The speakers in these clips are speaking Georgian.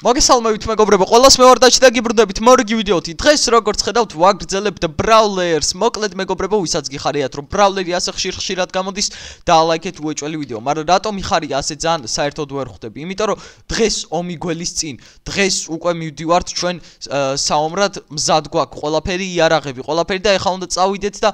მოგესალმებით მეგობრებო, ყველას მე ვარ და გიბრუნდებით მორიგი ვიდეოთი. დღეს როგორც ხედავთ, ვაგრძელებთ ბრაულერს. მოკლედ მეგობრებო, ვისაც გიხარიათ, რომ ბრაულერი ასე ხშირად გამოდის, დაალაიქეთ უეჭველი ვიდეო. მაგრამ რატომ იხარია ასე ძალიან საერთოდ ვერ ხვდები? იმიტომ რომ დღეს ომი გველის წინ. დღეს უკვე მივდივართ ჩვენ საომრად, მზად გვაქვს ყველაფერი, იარაღები, ყველაფერი და ეხლა უნდა წავიდეთ და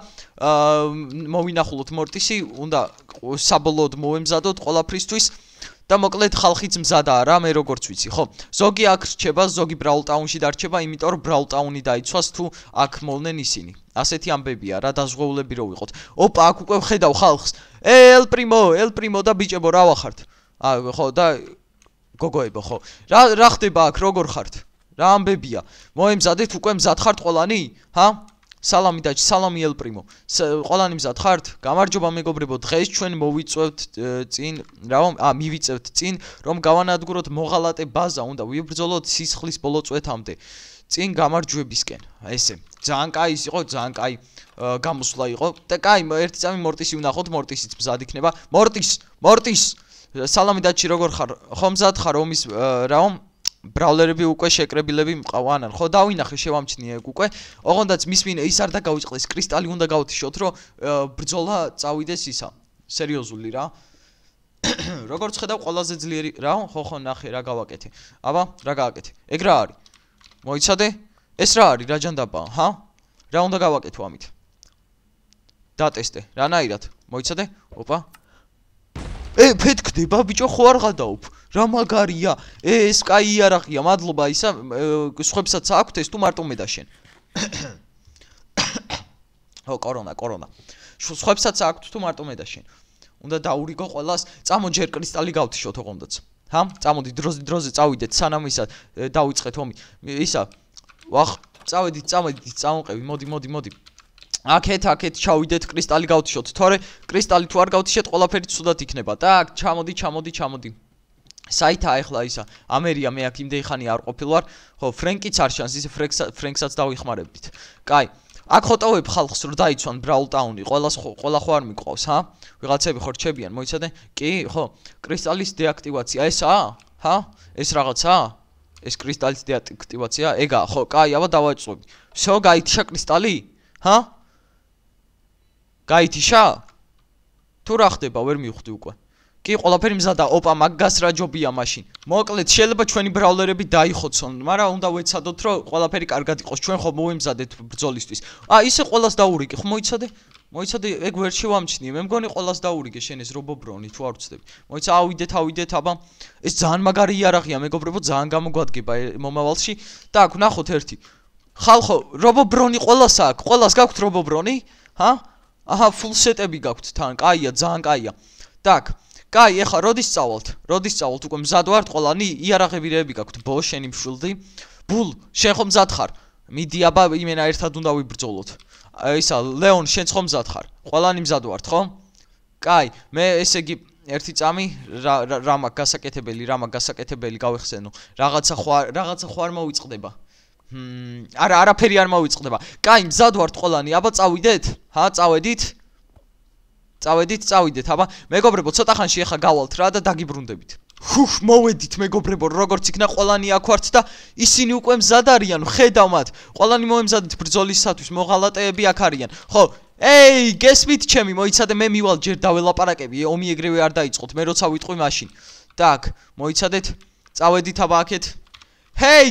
მოვინახულოთ მორტისი, უნდა საბოლოოდ მოვემზადოთ ყველაფრისთვის. და მოკლედ ხალხიც მზადაა რა, მე როგორც ვიცი, ხო? ზოგი აქ რჩება, ზოგი ბრაულტაუნში დარჩება, იმიტომ რომ ბრაულტაუნი დაიცვას თუ აქ მოვნენ ისინი. ასეთი ამბებია რა, დაზღვეულები რო ვიყოთ. ოპა, აქ უკვე ვხედავ ხალხს. ელ პრიმო და ბიჭებო, რა ვახართ? ხო და გოგოებო, ხო. რა ხდება აქ, როგორ ხართ? რა ამბებია? მოემზადეთ უკვე მზად ხართ ყველანი? ჰა? სალამი დაჭი, სალამი ელ პრიმო. ყველანი მზად ხართ? გამარჯობა მეგობრებო, დღეს ჩვენ მივიწევთ წინ, რომ გავანადგუროთ მოღალატე ბაზა, უნდა ვიბრძოლოთ სისხლის ბოლო წვეთამდე. წინ გამარჯვებისკენ. ესე. ძალიან კაი იყო, ძალიან კაი გამოსვლა იყო. და კაი, ერთი წამი მორტისი ვნახოთ, მორტისიც მზად იქნება. მორტის. სალამი დაჭი, როგორ ხარ? ხო მზად ხარ ომის ბრაულერები უკვე შეკრებილები მყავანან. ხო დავინახე შევამჩნიე უკვე. ოღონდაც მისმინე ის არ დაგავიწყდეს, კრისტალი უნდა გავთიშოთ, რომ ბრძოლა წავიდეს ისა. სერიოზული რა. როგორც ხედავ, ყველაზე ძლიერი რა, ხო ნახე რა გავაკეთე. აბა, რა გააკეთე? ეგ რა არის? მოიცადე? ეს რა არის? რა ჯანდაბაა, ჰა? რა უნდა გავაკეთო ამით? დატესტე, რანაირად? მოიცადე? ოპა. ფეთქდება ბიჭო, ხო არ გადაობ. რა მაგარია. ეს კაი იარაღია, მადლობა ისა, სხვებსაც აქვთ ეს თუ მარტო მე და შენ. ო, კორონა. სხვებსაც აქვთ თუ მარტო მე და შენ. უნდა დაურიგო ყველას, წამო ჯერ კრისტალი გავთიშოთ ოღონდაც. ჰა? წამოდი დროზე წავიდეთ, სანამ ისა დავიწყეთ ომი. ისა, ვახ, წავედით, წამოყევი, მოდი. აქეთ ჩავიდეთ, კრისტალი გავთიშოთ. თორე კრისტალი თუ არ გავთიშეთ, ყველაფერი ცუდად იქნება. так, ჩამოდი. საითა ახლა ისა, ამერია მე აქ იმდენი ხანი არ ყოფილ ვარ. ხო, ფრენკიც არ შანს, ისე ფრენკსაც დავიხმარებდით. კაი. აქ ხოტავებ ხალხს რომ დაიცვან ბრაულტაუნი, ყველა ხო არ მიყვავს, ჰა? ვიღაცები ხო რჩებიან, მოიცადე? კი, ხო. კრისტალის დეაქტივაცია ესაა? ჰა? ეს რაღაცაა? ეს კრისტალის დეაქტივაცია? ეგაა, ხო, კაი, აბა დავაწყობი. всё, გაითიშა კრისტალი? ჰა? გაითიშა? თუ რა ხდება, ვერ მივხვდი უკვე. კი, ყველაფერი მზადა, ოპა, მაგას რა ჯობია მაშინ. მოკლედ, შეიძლება ჩვენი ბრაულერები დაიხოცონ, მაგრამ უნდა ვეცადოთ, რომ ყველაფერი კარგად იყოს. ჩვენ ხო მოვემზადეთ ბრძოლისთვის. ისე ყველას დაურიგე, ხო მოიცადე? ეგ ვერ შევამჩნიე. მე მგონი ყველას დაურიგე შენ ეს რობობრონი, თუ არ ვცდები. მოიცა, ავიდეთ, აბა. ეს ძალიან მაგარი იარაღია, მეგობრებო, ძალიან გამოგვადგება მომავალში. და აქ ვნახოთ ერთი. ხალხო, რობობრონი ყველას აქვს? ყველას გაქვთ რობობრონი? ჰა? აჰა, ფულ სეტები გაქვთ თან. კაია, ძალიან კაია. так, კაი, ეხლა როდის წავალთ? უკვე მზად ვართ ყველანი, იარაღებირები გაქვთ. ბო, შენი მშვილდი. ბულ, შენ ხო მზად ხარ? მიდი, აბა, იმენა ერთად უნდა ვიბრძოლოთ. ისა, ლეონ, შენ ხო მზად ხარ? ყველანი მზად ვართ, ხო? კაი, მე ესე იგი ერთი წამი რა მაგ გასაკეთებელი გავიხსენო. რაღაცა ხო არ მოვიწყდება. არაფერი არ მოვიწყდება. კაი, მზად ვართ ყველანი, აბა წავიდეთ? ჰა, წავიდეთ, აბა. მეგობრებო, ცოტა ხანში ახლა გავალთ რა და დაგიბრუნდებით. მოვედით მეგობრებო, როგორც იქნა ყველანი აქ ვართ და ისინი უკვე მზად არიან, ხედავ მათ. ყველანი მოემზადეთ ბრძოლისათვის, მოღალატეები აქ არიან. ხო, გესმით ჩემი, მოიცადე, მე მივალ ჯერ დაველაპარაკები, ომი ეგრევე არ დაიწყოთ, მე როცა ვიტყვი მაშინ. так, მოიცადეთ, წავედით აბა აქეთ.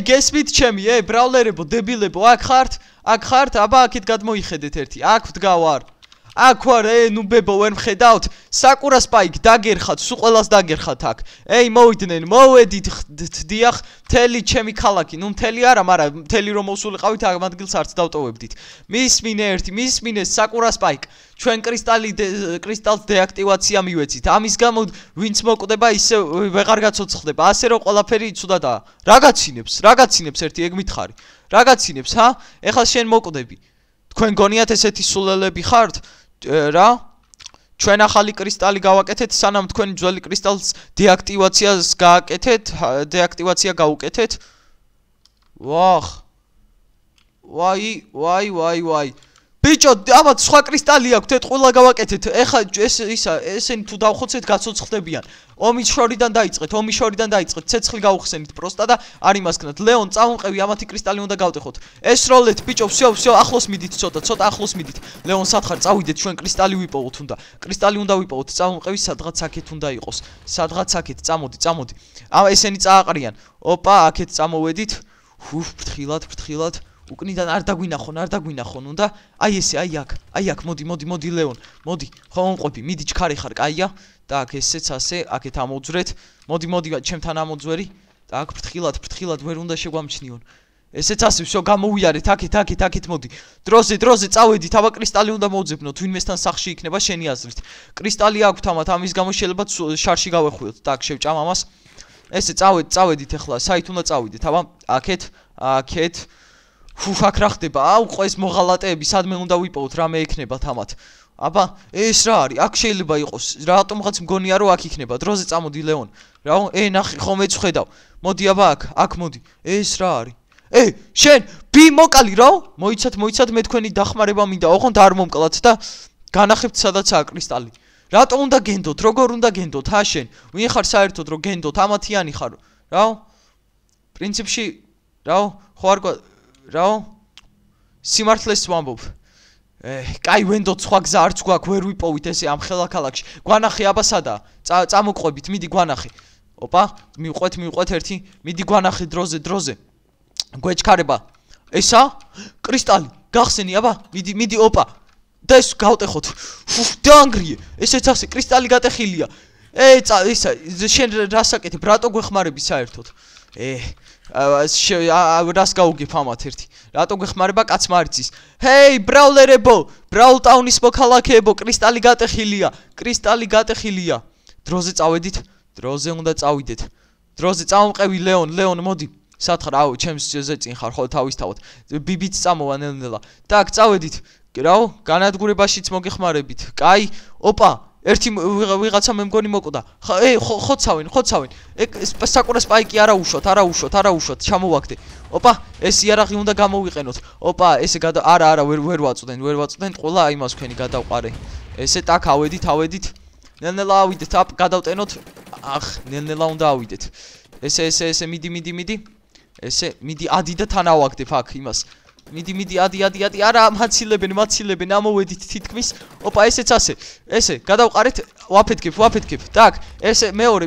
გესმით ჩემი, ბრაულერებო, დებილებო, აქ ხართ, აბა აქეთ გადმოიხედეთ ერთი. აქ ვდგავარ. აქ ვარ, ნუ ბებო, ვერ მხედავთ? საკურა სპაიკ დაგერხათ, სულ ყველას დაგერხათ აქ. მოვედით, დიახ, მთელი ჩემი ქალაქი, ნუ მთელი არა, მაგრამ მთელი რომ მოვსულიყავით, ამ ადგილს არც დავტოვებდით. მისმინე საკურა სპაიკ. ჩვენ კრისტალს დეაქტივაცია მივეცით. ამის გამო ვინც მოკვდება, ისე ვეღარ გაცოცხლდება. ასე რომ ყველაფერი ცუდადაა. რა გაცინებს ერთი, ეგ მითხარი. რა გაცინებს, ჰა? ეხლა შენ მოკვდები. თქვენ გონიათ ესეთი სულელები ხართ? რა? ჩვენ ახალი კრისტალი გავაკეთეთ, სანამ თქვენი ძველი კრისტალს დეაქტივაცია გაუკეთეთ. ვაი. ბიჭო, აბა სხვა კრისტალი აქვს, თეთყვილა გავაკეთეთ. ეხა ესენი თუ დავხოცეთ გაცოცხლდებიან. ომის შორიდან დაიწყეთ, ცეცხლი გაუხსენით პროსტა და არ იმასკნათ. ლეონ, წამოყევი, ამათი კრისტალი უნდა გავტეხოთ. ეს როლეთ, ბიჭო, всё, ახლოს მიდით, ცოტა ახლოს მიდით. ლეონ, სათხარ წავიდეთ, ჩვენ კრისტალი ვიპოვოთ უნდა. კრისტალი უნდა ვიპოვოთ, წამოყევი, სადღაც აქეთ უნდა იყოს. სადღაც აქეთ, წამოდი. ესენი წააყრიან. ოპა, აქეთ წამოვედით. ფრთხილად. უკნიდან არ დაგვინახონ უნდა. აი ესე, აი აქ, მოდი ლეონ, მოდი. ხო მომყვები, მიდი ჩქარი ხარ, კაია. Так, ესეც ასე, აქეთ ამოძვრეთ. მოდი, ჩემთან ამოძვერი. Так, ფრთხილად, ვერ უნდა შეგვამჩნიონ. ესეც ასე, всё, გამოვიარეთ, აქეთ, მოდი. დროზე, წავედით, აბა კრისტალი უნდა მოვძებნოთ, ვინმესთან სახში იქნება შენი აზრით. კრისტალი აქვთ ამათ, ამის გამო შეიძლება შარში გავეხვიოთ. Так, შევჭამ ამას. ესე წავედით ახლა, საით უნდა წავიდეთ, აბა, აქეთ. აქ რა ხდება? აუ, ყო ეს მოღალატეები, სადმე უნდა ვიპოვოთ, რამე ექნება თამათ. აბა, ეს რა არის? აქ შეიძლება იყოს. რატომღაც მგონია რომ აქ იქნება. დროზე წამოდი ლეონ. რა, ნახე, ხო მეც ხედავ. მოდი აბა აქ მოდი. ეს რა არის? შენ ბი მოკალი რა? მოიცად მე თქვენი დახმარება მინდა. ოღონდ არ მომკლათ და განახებთ სადაცაა კრისტალი. რატომ უნდა გენდოთ? როგორ უნდა გენდოთ? შენ ვინ ხარ საერთოდ რომ გენდოთ? ამათიანი ხარ. რა? პრინციპში რა? ხო არ რა? სიმართლეს ვამბობ. კაი ვენდოთ, სხვა გზა არც გვაქვს, ვერ ვიპოვით ესე ამ ხელაქალაქში. გვანახე აბა სადაა? წამოყვებით, მიდი გვანახე. ოპა, მივყვეთ ერთი. მიდი გვანახე დროზე. გვეჩქარება. ესა? კრისტალი. გახსენი აბა? მიდი ოპა. და ეს გავტეხოთ. დაანგრიე. ესეც ასე, კრისტალი გატეხილია. ისა, შენ რასაკეთებ? რატო გვეხმარები საერთოდ? რას გაუგებ ამათ ერთი? რატო გვეხმარება კაცმა არ იცის? ჰეი, ბრაულერებო, ბრაულტაუნის მოქალაქეებო, კრისტალი გატეხილია. დროზე წავედით, დროზე უნდა წავიდეთ. დროზე წამომყევი ლეონ, მოდი. სათხარ, აუ, ჩემს ზეწინ ხარ, ხო თავისთავად. ბიბიც წამოვა ნელ-ნელა. Так, წავედით. რაო, განადგურებაშიც მოგეხმარებით. კაი, ოპა, ერთი ვიღაცა მე მგონი მოკვდა. ხოცავენ. საკურა სპაიკი არა უშვათ, ჩამოვაგდე. ოპა, ეს იარაღი უნდა გამოვიყენოთ. ოპა, ესე არა, ვერ ვაწვდენ, ყველა იმას თქვენი გადავყარე. ესე так, ავედით. ნელ-ნელა ავიდეთ, გადავტენოთ. ნელ-ნელა უნდა ავიდეთ. ესე მიდი. ესე მიდი, ადი და თან ავაგდებ აქ იმას. მიდი, ადი, არა, მაცილებენ, ამოვედით თითქმის. ოპა, ესეც ასე. ესე, გადავყარეთ, ვაფეთქებ. Так, ესე მეორე.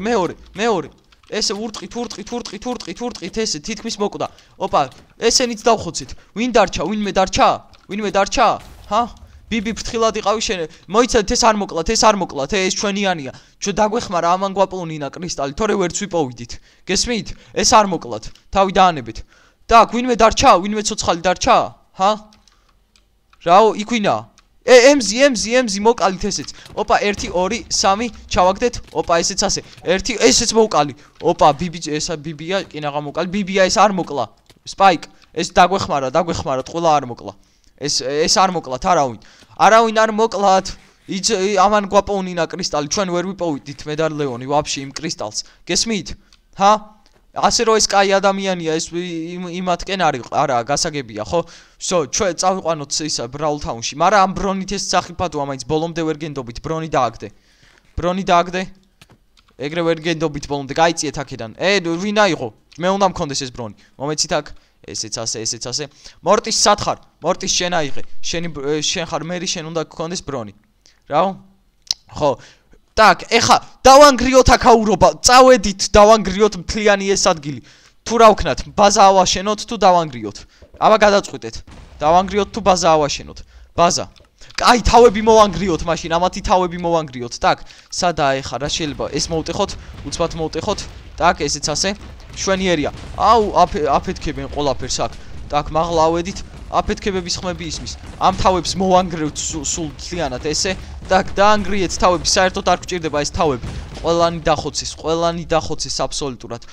ესე ურტყით, ესე თითქმის მოკვდა. ოპა, ესენიც დავხოცეთ. ვინმე დარჩა? ჰა? ბიბი ფრთხილად იყავი შენ. მოიცადეთ, ეს არ მოკლათ, ეს ჩვენიანია. ჩვენ დაგვეხმარა ამან გვაპოვნინა კრისტალი, თორე ვერც ვიპოვიდით. გესმით? ეს არ მოკლათ. თავი დაანებეთ. Так, ვინმე ცოცხალი დარჩა? ჰა? რაო, იქ ვინაა? ემზი მოკალით ესეც. ოპა, 1 2 3 ჩავაგდეთ. ოპა, ესეც ასე. ესეც მოკალი. ოპა, ბიბია, კინაღა მოკალი. ბიბია, ეს არ მოკლა. სპაიკ, ეს დაგვეხმარა, ყველა არ მოკლა. ეს არ მოკლათ, არავინ არ მოკლათ. ამან გვაპოვნინა კრისტალი, ჩვენ ვერ ვიპოვიდით მე და ლეონი ვაფშე იმ კრისტალს. გესმით? ჰა? ასე რომ ეს კაი ადამიანია, ეს იმათკენ არა, გასაგებია, ხო? всё, ჩვენ წავიყვანოთ ისა ბრაულტაუნში, მაგრამ ამ ბრონით ეს სახიფათოა, მაინც ბოლომდე ვერ გენდობით, ბრონი დააგდე. ეგრე ვერ გენდობით ბოლომდე, გაიწიეთ აქედან. ვინ აიღო? მე უნდა მქონდეს ეს ბრონი. მომეცით აქ. ესეც ასე. მორტის სათხარ, მორტის შენ აიღე. შენ ხარ მერი, შენ უნდა გქონდეს ბრონი. რაო? ხო. Так, ეხა დავანგრიოთ აქაურობა. წავედით, დავანგრიოთ მთლიანი ეს ადგილი. თუ რა ვქნათ, ბაზა ავაშენოთ თუ დავანგრიოთ. აბა გადაწყვეტეთ. დავანგრიოთ თუ ბაზა ავაშენოთ. ბაზა. კაი, თავები მოვანგრიოთ მაშინ, ამათი თავები მოვანგრიოთ. Так, სადაა ეხა რა შეიძლება? ეს მოვტეხოთ, უცბად მოვტეხოთ. Так, ესეც ასე. შვენიერია. აუ, აფეთქებენ ყველაფერს აქ. Так, მაღლა ავედით. აფეთქებების ხმები ისმის. ამ თავებს მოვანგრევთ სულ მთლიანად ესე. Так, დაანგრიეთ თავები, საერთოდ არ გჭირდება ეს თავები. ყველანი დახოცეს აბსოლუტურად.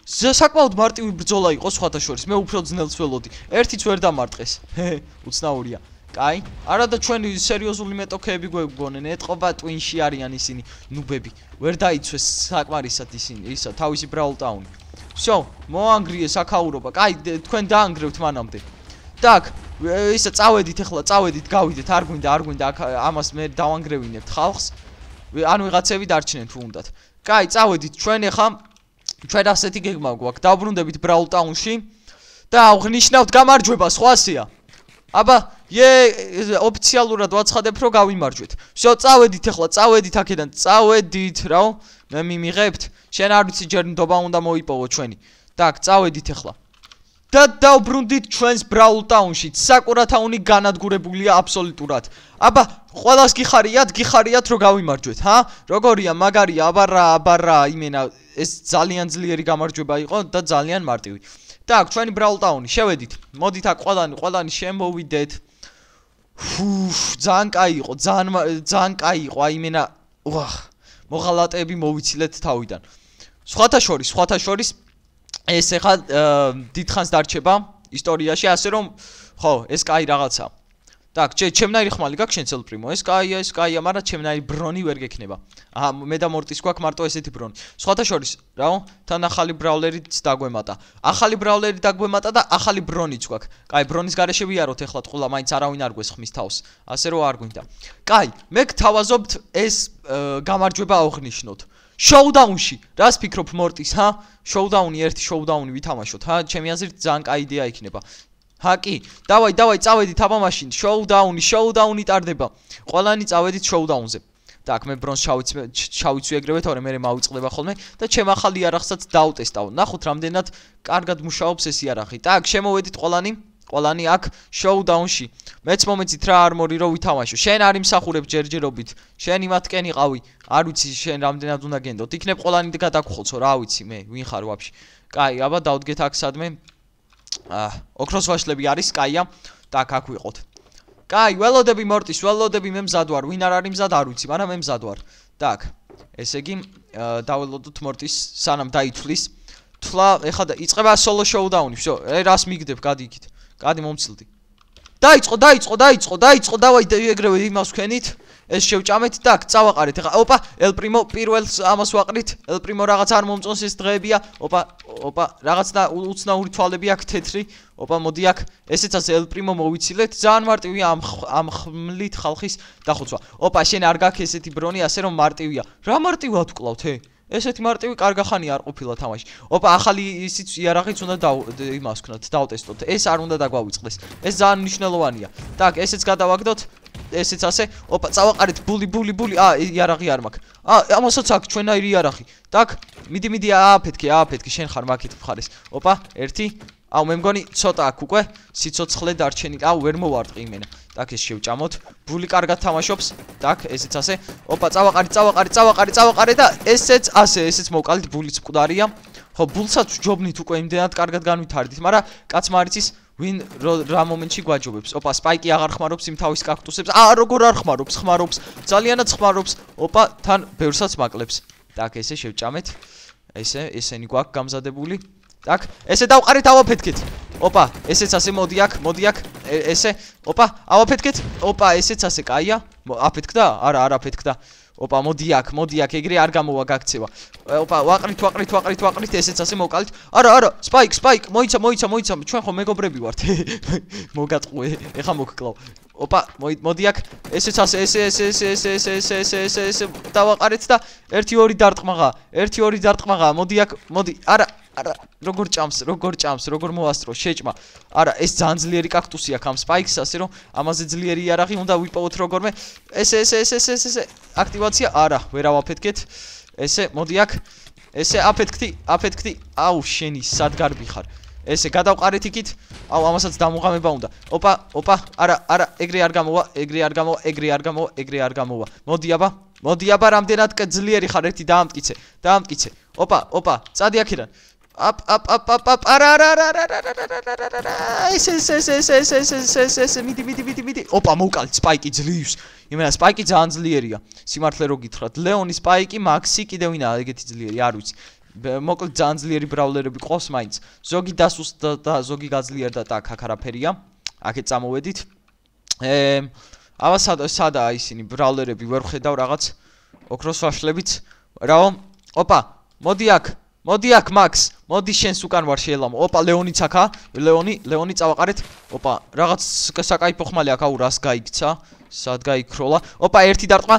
საკმაოდ მარტივი ბრძოლა იყო სხვათა შორის. მე უფრო ძნელს ველოდი. ერთიც ვერ დამარტყეს. უცნაურია. კაი, არა და ჩვენი სერიოზული მეტოქეები გვეგონენ, ეთყობა ტვინში არიან ისინი, ნუბები. ვერ დაიცვეს საკმარისად ისინი, ისა თავისი ბრაულტაუნი. всё, მოანგრიეს აქაურობა. კაი, თქვენ დაანგრევთ მანამდე. Так, ისა წავედით ახლა წავედით გავიდეთ არ გვინდა აქ ამას მე დავანგრევინებთ ხალხს ან ვიღაცები დარჩნენ თუ უნდათ კაი წავედით ჩვენ ახლა ჩვენ ასეთი გეგმა გვაქვს დავბრუნდებით ბრაულ ტაუნში და აღნიშნავთ გამარჯვება სხვასია აბა ოფიციალურად ვაცხადებ რომ გავიმარჯვეთ всё წავედით ახლა წავედით აქედან წავედით რა მე მიმიღებთ შენ არ ვიცი ჯერ ნდობა უნდა მოიპოვო ჩვენი так წავედით ახლა და დავბრუნდით ჩვენს ბრაულ ტაუნში საკურათაუნი განადგურებულია აბსოლუტურად აბა ყველას გიხარიათ რომ გავიმარჯვეთ ჰა როგორია მაგარია აბარა იმენა ეს ძალიან ძლიერი გამარჯვება იყო და ძალიან მარტივი так ჩვენი ბრაულ ტაუნი შევედით მოდით აქ ყველანი შემოვიდეთ ძალიან კაი იყო კაი იყო აი იმენა მოღალატეები მოვიცილეთ თავიდან სხვათა შორის ეს ახლა დიდხანს დარჩება ისტორიაში ასე რომ ხო ეს კაი რაღაცა так ჩემნაირი ხმალი გაქვს შენ ცელპრიმო ეს კაია მაგრამ ჩემნაირი ბრონი ვერ გექნება აჰა მე და მორტის გვაქვს მარტო ესეთი ბრონი სხვათა შორის რაო თან ახალი ბრაულერიც დაგვემატა ახალი ბრაულერი დაგვემატა და ახალი ბრონიც გვაქვს კაი ბრონის გარეშე ვიაროთ ახლა ტყულა მაინც არავინ არ გვესხმის თავს ასე რომ არ გვინდა კაი მე გთავაზობთ ეს გამარჯვება აღნიშნოთ შოუდაუნში რას ფიქრობ მორტის ჰა შოუდაუნი ერთი შოუდაუნი ვითამაშოთ ჰა ჩემი აზრით ძალიან კაი იდეა იქნება ჰა კი დავაი წავედით აბა მაშინ შოუდაუნი ტარდება ყველანი წავედით შოუდაუნზე так მე ბრონს შავიც ვიეგრევე თორე მე მავიწყდება ხოლმე და ჩემ ახალი იარაღსაც დავტესტავ ნახოთ რამდენად კარგად მუშაობს ეს იარაღი так შემოვედით ყველანი აქ შოუდაუნში მეც მომეცით რა არმორი რო ვითამაშო შენ არ იმსახურებ ჯერჯერობით შენ იმათკენ იყავი არ ვიცი შენ რამდენად უნდა გენდოთ იქნებ ყველანი გადაგხოლცო რა ვიცი მე ვინ ხარ ვაფშე კაი აბა დავდგეთ აქ სადმე ოქროს ვაშლები არის კაია так აქ ვიყოთ კაი ველოდები მორტის ველოდები მე მზად ვარ ვინ არ არის მზად არ ვიცი მაგრამ მე მზად ვარ так ესე იგი დაველოდოთ მორტის სანამ დაითვლის თვლა ეხლა იწყება სოლო შოუდაუნი всё რას მიგდებ გადი იქით გადი მომცილდი დაიწყო დავაი ეგრევე იმას ვქენით ეს შევჭამეთ так წავაყარეთ ეხლა ოპა ელ პრიმო პირველს ამას ვაყრით ელ პრიმო რაღაც არ მომწონს ეს დღეებია ოპა რაღაც და უცნაური თვალები აქვს თეთრი ოპა მოდი აქ ესეც ასე ელ პრიმო მოვიცილეთ ძალიან მარტივია ამ ხმლით ხალხის დახოცვა ოპა შენ არ გაქვს ესეთი ბრონი ასე რომ მარტივია რა მარტივად ვკლავთ ესეთი მარტივი კარგახანი არ ყოფილა თამაში ოპა ახალი ისიც იარაღიც უნდა იმას ვქნათ დავტესტოთ ეს არ უნდა დაგვავიწყდეს ეს ძალიან მნიშვნელოვანია так ესეც გადავაგდოთ ესეც ასე ოპა წავაყარეთ ბული იარაღი არ მაქვს ამასაც აქვს ჩვენაირი იარაღი так მიდი ააფეთქე შენ ხარ მაქეთ მხარეს ოპა ერთი აუ მე მგონი ცოტა აქვს უკვე სიცოცხლე დარჩენი აუ ვერ მოვარტყი იმენა так ეს შევჭამოთ ბული კარგად თამაშობს так ესეც ასე ოპა წავაყარი და ესეც მოვყალით ბულიც მკვდარია ხო ბულსაც ვჯობნით უკვე იმდენად კარგად განვითარდით მაგრამ კაცმა არ იცის ვინ რა მომენტში გვაჯობებს ოპა სპაიკი აღარ ხმარობს იმ თავის კაქტუსებს როგორ არ ხმარობს ძალიანად ხმარობს ოპა თან ბევრსაც მაკლებს так ესე შევჭამეთ ესენი გვაქვს გამზადებული так ესე დავყარით ავაფეთქეთ ოპა ესეც ასე მოდი აქ ესე ოპა ავაფეთქეთ ოპა ესეც ასე კაია აფეთქდა არა არ აფეთქდა ოპა მოდი აქ ეგრე არ გამოვა გაქცევა ოპა ვაყრით ესეც ასე მოვყალით არა სპაიკ მოიცა ჩვენ ხო მეგობრები ვართ მოგატყვე ეხა მოგკლავ ოპა მოდი აქ ესეც ასე ესე დავაყარეთ და 1-2 დარტყმაღა მოდი აქ არა როგორ ჭამს როგორ მოასწრო შეჭმა არა ეს ძალიან ძლიერი კაქტუსი აქვს ამ სპაიქს ასე რომ ამაზე ძლიერი იარაღი უნდა ვიპოვოთ როგორმე ესე აქტივაცია არა ვერ ავაფეთქეთ ესე მოდი აქ ესე აფეთქდი აუ შენი სად გარბი ხარ ესე გადავყარეთ იქით აუ ამასაც დამუღამება უნდა ოპა არა ეგრე არ გამოვა მოდი აბა რამდენად ძლიერი ხარ ერთი დაამტკიცე ოპა წადი აქედან არა ესე მიდი ოპა მოვკალით სპაიკი ძლივს იმენა სპაიკი ძალიან ძლიერია სიმართლე რო გითხრათ ლეონი სპაიკი მაქსი კიდევ ვინაა ეგეთი ძლიერი არ ვიცი მოკლედ ძალიან ძლიერი ბრაულერები ყავს მაინც ზოგი დასუსტ და ზოგი გაძლიერდა და აქ არაფერია აქეთ წამოვედით აბა სადაა ისინი ბრაულერები ვერ ხედავ რაღაც ოქროს ვაშლებიც რაო ოპა მოდი მოდი აქ მაქს მოდი შენს უკან ვარ შეელამო ოპა ლეონიც აქა ლეონი წავაყარეთ ოპა რაღაც საკაიფო ხმალი აქ აუ რას გაიქცა სად გაიქროლა ოპა ერთი დარტყმა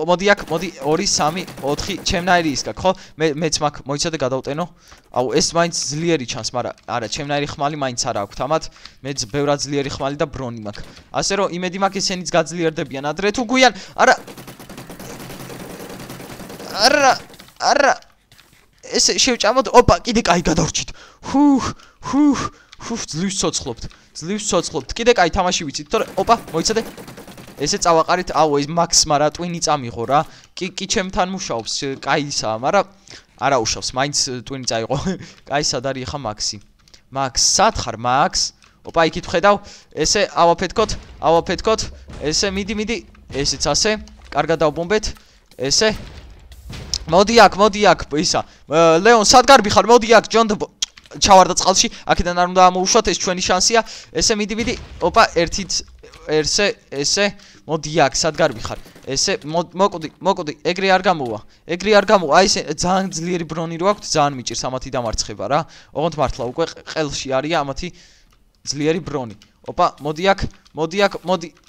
მოდი აქ მოდი 2 3 4 ჩემნაირი ის გაქვს ხო მეც მაგ მოიცადე გადავტენო აუ ეს მაინც ძლიერი ჩანს მაგრამ არა ჩემნაირი ხმალი მაინც არა აქვს ამათ მეც ბევრად ძლიერი ხმალი და ბრონი მაქვს ასე რომ იმედი მაქვს ესენიც გაძლიერდებიან ადრე თუ გვიან არა ეს შევჭამოთ ოპა კიდე კაი გადავრჩით ძლივს ცოცხლობთ კიდე კაი თამაში ვიცით თორე ოპა მოიცადე ესე წავაყარით აუ ეს მაქს მარა ტვინი წამიღო რა კი ჩემთან მუშაობს კაისაა მაგრამ არა უშავს მაინც ტვინი წაიღო კაი სად არის ხა მაქსი მაქს სად ხარ მაქს ოპა იქით ხედავ ესე ავაფეთქოთ ესე მიდი ესეც ასე კარგად დავბომბეთ ესე მოდი აქ ისა ლეონ სად გარბი ხარ მოდი აქ ჯონ ჩავარდა წყალში აქედან არ უნდა ამოუშვათ ეს ჩვენი შანსია ესე მიდი ოპა ესე მოდი აქ სად გარბი ხარ ესე მოკვდი ეგრე არ გამოვა აი ეს ძალიან ძლიერი ბრონი რო აქვს ძალიან მიჭირს ამათი დამარცხება რა ოღონდ მართლა უკვე ყელში არია ამათი ძლიერი ბრონი ოპა მოდი აქ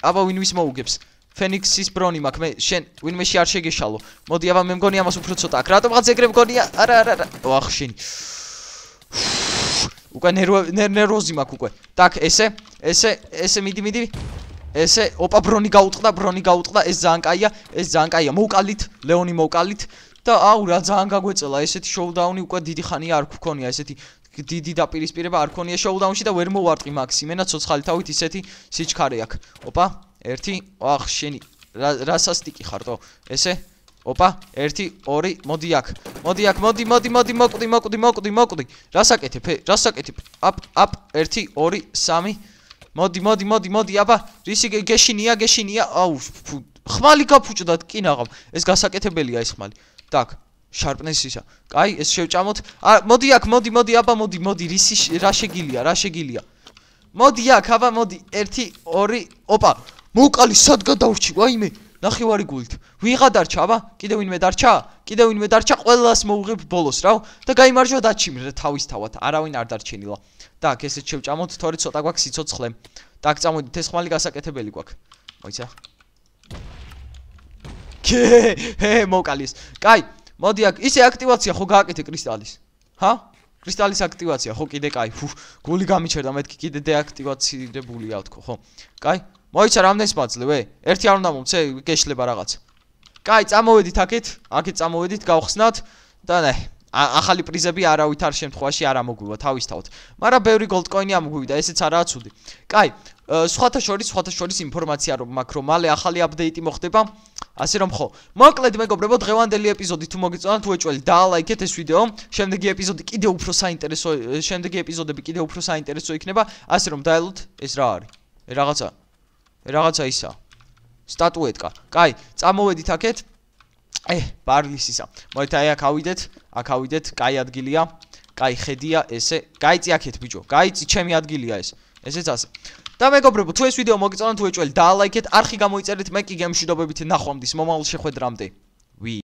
აბა ვინვის მოუგებს ფენიქსის ბრონი მაქვს მე შენ ვინმეში არ შეგეშალო მოდი აბა მე მგონი ამას უფრო ცოტა აქვს რატომღაც ეგრე მგონია არა ვახ შენი უკვე ნერვოზი მაქვს უკვე так ესე მიდი ესე ოპა ბრონი გაუტყდა ეს ძალიან კაია მოვკალით ლეონი მოვკალით და აუ რა ძალიან გაგვეწელა ესეთი შოუდაუნი უკვე დიდი ხანია არ გქონია ესეთი დიდი დაპირისპირება არ ქონია შოუდაუნში და ვერ მოვარტყი მაქს იმენა ცოცხალი თავით ისეთი სიჩქარე აქვს ოპა 1 ვახ შენი რასასტიკი ხარტო ესე ოპა 1 2 მოდი აქ მოკვდი რასაკეთებ აპ 1 2 3 მოდი აბა რისი გეშინია აუ ხმალი გაფუჭდა კინაღამ ეს გასაკეთებელია ეს ხმალი так შარპნესისა კაი ეს შევჭამოთ მოდი აქ მოდი აბა მოდი რისი რა შეგილია მოდი აქ აბა მოდი 1 2 ოპა მოვკალი სად გადავრჩი ვაიმე ნახევარი გულით ვიღა დარჩა აბა კიდე ვინმე დარჩა ყველას მოუღებ ბოლოს რა და გაიმარჯვა დაჩიმრე თავისთავად არავინ არ დარჩენილა так ესეც შევჭამოთ თორე ცოტა გვაქვს სიცოცხლე так წამოდით ეს ხმალი გასაკეთებელი გვაქვს მოიცა მოვკალის კაი მოდი აქ ისე აქტივაცია ხო გააკეთე კრისტალის ჰა კრისტალის აქტივაცია ხო კიდე კაი გული გამიჩერდა მეთქი კიდე დეაქტივაცირებულია თქო ხო კაი მოიცა რამდენს მაძლევ ერთი არ უნდა მომცე გეშლება რაღაც კაი წამოვედით აქეთ წამოვედით გავხსნათ და ნე ახალი პრიზები არავითარ შემთხვევაში არ ამოგვივა თავისთავად მაგრამ ბევრი გოლდკოინი ამოგვივიდა ესეც არაა ცუდი კაი სხვათა შორის ინფორმაცია რომ მაქვს რომ მალე ახალი აპდეიტი მოხდება ასე რომ ხო მოკლედ მეგობრებო დღევანდელი ეპიზოდი თუ მოგიწონათ უეჭველი დაალაიქეთ ეს ვიდეო შემდეგი ეპიზოდები კიდევ უფრო საინტერესო იქნება ასე რომ დაელოთ ეს რა არის რაღაცა ისა სტატუეტკა კაი წამოვედით აქეთ ბარლისისა მოიცა აქ ავიდეთ კაი ადგილია კაი ხედია ესე გაიწი აქეთ ბიჭო გაიწი ჩემი ადგილია ესეც ასე და მეგობრებო თუ ეს ვიდეო მოგიწონათ უეჭველი დაალაიქეთ არხი გამოიწერეთ მე კი გემშვიდობებით ნახვამდის მომავალ შეხვედრამდე